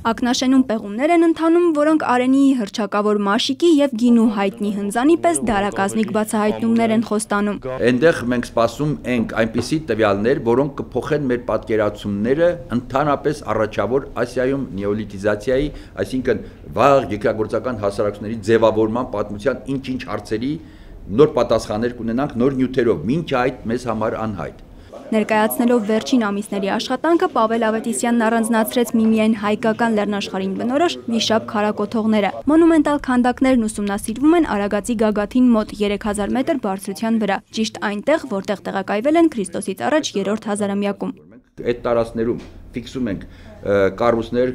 Ակնաշենում պեղումներ են ընթանում, որոնք Արենիի հռչակավոր Մաշիկի եւ Գինու հայտնի հնձանի պես դարակազմիկ բացահայտումներ են խոստանում։ Այնտեղ մենք սպասում ենք այնպիսի տվյալներ, որոնք կփոխեն մեր պատկերացումները ընդհանրապես առաջավոր Ասիայում նեոլիթիզացիայի, այսինքն վաղ երկրագործական հասարակությունների ձևավորման պատմության ինչ-ինչ հարցերի նոր պատասխաններ կունենանք նոր նյութերով, մինչ այդ մեզ համար անհայտ։ Ներկայացնելով վերջին ամիսների աշխատանքը Պավել Ավետիսյանն առանձնացրեց միմիայն հայկական լեռնաշխարհին բնորոշ վիշապ քարակոթողները։ Մոնումենտալ քանդակներն ուսումնասիրվում են Արագածի գագաթին մոտ 3000 մետր բարձրության վրա, ճիշտ այնտեղ, որտեղ տեղակայվել են Քրիստոսից առաջ 3-րդ հազարամյակում։ Այդ տարածքներում ֆիքսում ենք կառույցներ,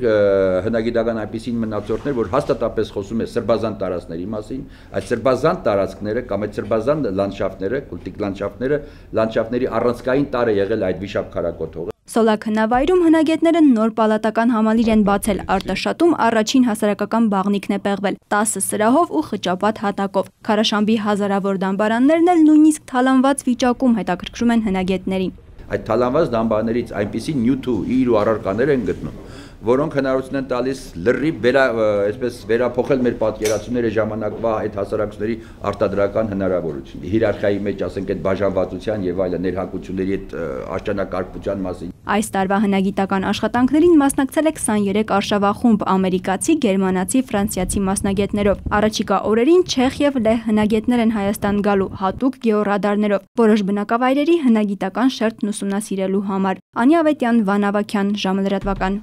հնագիտական այնպիսի մնացորդներ, որ հաստատապես խոսում է սրբազան տարածքների մասին, այդ սրբազան տարածքները կամ այդ սրբազան լանդշաֆտները, կուլտիկ լանդշաֆտների առանցքային տարր է եղել այդ վիշապ քարակոթողը։ Սոլակ հնավայրում հնագետները նոր պալատական համալիր են բացել, Արտաշատում առաջին հասարակական բաղնիքն է պեղվել 10 սրահով ու խճապատ հատակով։ Քարաշամբի հազարավոր դամբարաններն էլ նույնիսկ թալանված վիճակում հետաքրքրում են հնագետներին։ Այդ թալանված դամբաներից այնպիսի նյութ ու իր ու առարկաներ են գտնում, որոնք հնարավորություն են տալիս լրիվ վերափոխել մեր պատկերացումները ժամանակվա այդ հասարակությունների արտադրական հնարավորություն։ Հիերարխիայի մեջ, ասենք, այդ բաժանվածության եւ այլ ներհակությունների այդ աշճանակարգության մասին։ Այս տարվա հնագիտական աշխատանքներին մասնակցել է 23 արշավախումբ ամերիկացի, գերմանացի, ֆրանսիացի մասնագետներով։ Առաջիկա օրերին չեխ եւ լեհ հնագետներ են Հայաստան գալու հատուկ գեոռադարներով, որոշ բնակավայրերի հնագիտական շերտն ուսումնասիրելու համար։ Անի Ավետյան, Վան Ավագյան, ժամը լրատվական։